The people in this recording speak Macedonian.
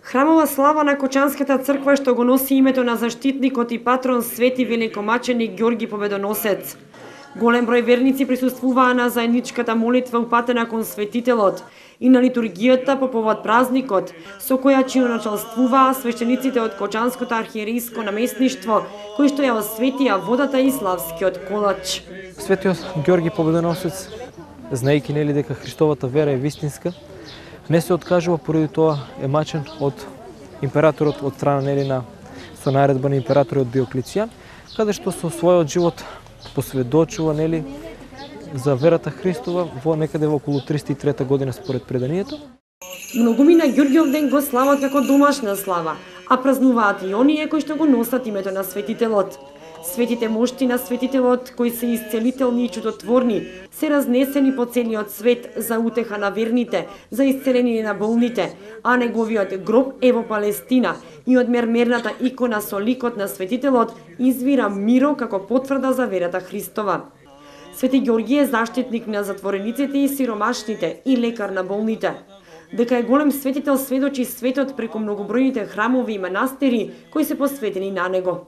Храмова слава на Кочанската црква што го носи името на заштитникот и патрон свети великомаченик Ѓорги Победоносец. Голем број верници присуствуваа на заедничката молитва упатена кон светителот и на литургијата по повод празникот, со која началствуваа свештениците од Кочанското архиерейско наместништво, кои што ја осветија водата и славскиот колач. Светиот Ѓорги Победоносец, знаејќи нели дека Христовата вера е вистинска, не се откажува, поради тоа е мачен од императорот од страна нели со наредба на императорот Диоклецијан, каде што со својот живот посведочува нели за верата Христова во некаде во околу 303 година според преданието. Многуми на Ѓорѓиов ден го слават како домашна слава, а празнуваат и оние кои што го носат името на светителот. Светите мошти на светителот, кои се исцелителни и чудотворни, се разнесени по целиот свет за утеха на верните, за исцеление на болните, а неговиот гроб е во Палестина и од мермерната икона со ликот на светителот извира миро како потврда за верата Христова. Свети Ѓорги е заштитник на затворениците и сиромашните и лекар на болните. Дека е голем светител сведочи светот преку многобројните храмови и манастири кои се посветени на него.